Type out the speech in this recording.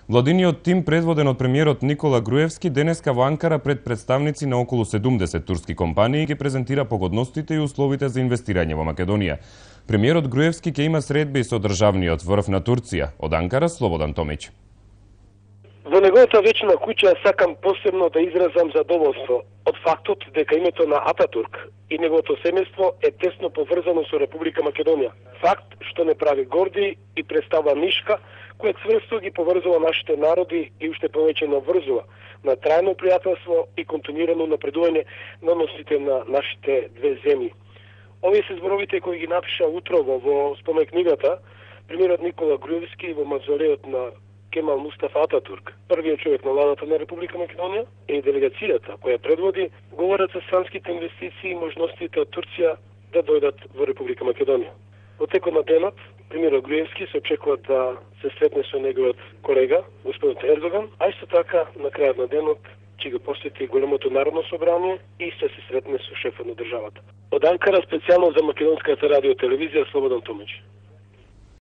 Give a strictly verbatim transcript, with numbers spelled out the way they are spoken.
Владиниот тим, предводен од премиерот Никола Груевски, денеска во Анкара пред представници на околу седумдесет турски компании ги презентира погодностите и условите за инвестирање во Македонија. Премиерот Груевски ќе има средби со државниот врв на Турција. Од Анкара, Слободан Томич. Во неговата вечна куќа сакам посебно да изразам задоволство од фактот дека името на Ататурк и неговото семејство е тесно поврзано со Република Македонија. Факт што не прави горди и представа нишка, која цврсто ги поврзува нашите народи и уште повеќе наврзува на трајно пријателство и континуирано напредување на односите на нашите две земји. Овие се зборовите кои ги напиша утрово во споменкнигата премиерот Никола Груевски во мавзолеот на Кемал Мустафа Ататурк, првиот човек на владата на Република Македонија и делегацијата која предводи, говорат за странските инвестиции и можностите од Турција да дојдат во Република Македонија. Во текот на денот, премиерот Груевски се очекува да се сретне со неговиот колега, господин Ердоган, а исто така на крајот на денот ќе го посети големото народно собрание и ще се сретне со шефот на државата. Од Анкара специјално за Македонската радио телевизија Слободан Томич.